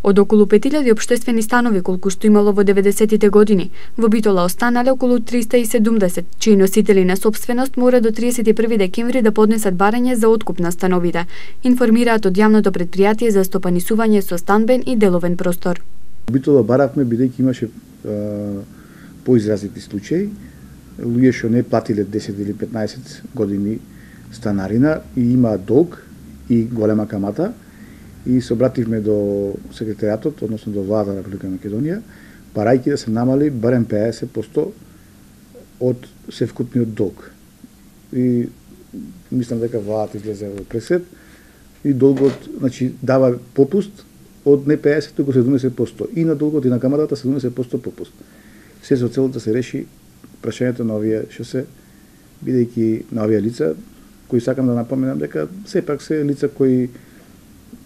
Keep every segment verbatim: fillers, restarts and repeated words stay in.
Од околу пет илјади општествени станови колку што имало во деветдесеттите години, во Битола останале околу триста и седумдесет, чии носители на сопственост мора до триесет и први декември да поднесат барање за откуп на становите, информираат од јавното претпријатие за стопанисување со станбен и деловен простор. Битола баравме бидејќи имаше а, поизразити случаи, луѓе што не платиле десет или петнаесет години станарина и имаат долг и голема камата, и се обративме до секретаријатот, односно до владата на Република Македонија, барајќи да се намали барем педесет проценти од севкупниот долг. И мислам дека владата излезе во пресед и долгот, значи, дава попуст од не педесет, туку седумдесет проценти. И на долгот и на каматата седумдесет проценти попуст. Се со цел да се реши прашањето на овие што се, бидејќи на овие лица, кои сакам да напоменам дека сепак се лица кои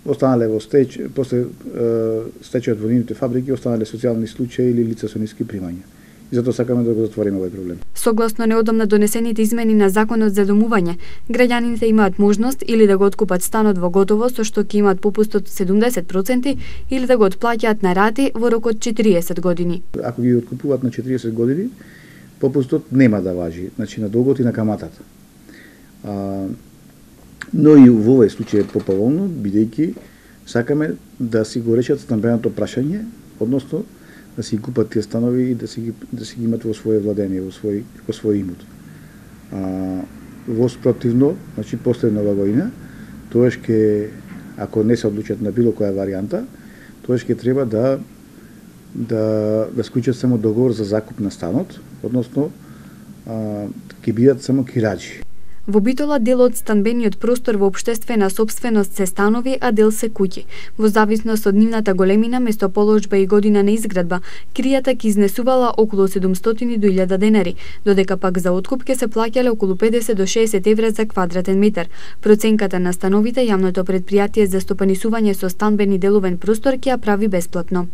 останале во стеч, после стечајот во нивните фабрики, останале социјални случаи или лица со ниски примања. И затоа сакаме да го затвориме овој проблем. Согласно неодамна донесените измени на Законот за домување, граѓаните имаат можност или да го откупат станот во готово со што ќе имаат попуст од седумдесет проценти или да го отплаќаат на рати во рок од четириесет години. Ако ги откупуваат на четириесет години, попустот нема да важи, значи на долгот и на каматата. А, но и во овој случај е поповолно, бидејќи сакаме да си го решат стамбеното прашање, односно да си купат тие станови и да си ги, да си ги имат во своје владење, во свој, во свој имот. А, во спротивно, значи после нова година, тоа ќе, ако не се одлучат на било која варијанта, тоа ќе треба да да да склучат само договор за закуп на станот, односно а, ќе бидат само кираџи. Во Битола дел од станбениот простор во општествена сопственост се станови, а дел се куќи. Во зависност од нивната големина, местоположба и година на изградба, кријата ќе изнесувала околу седумстотини до илјада денари, додека пак за откуп ќе се плаќале околу педесет до шеесет евра за квадратен метар. Проценката на становите јавното претпријатие за стопанисување со станбен и деловен простор ќе ја прави бесплатно.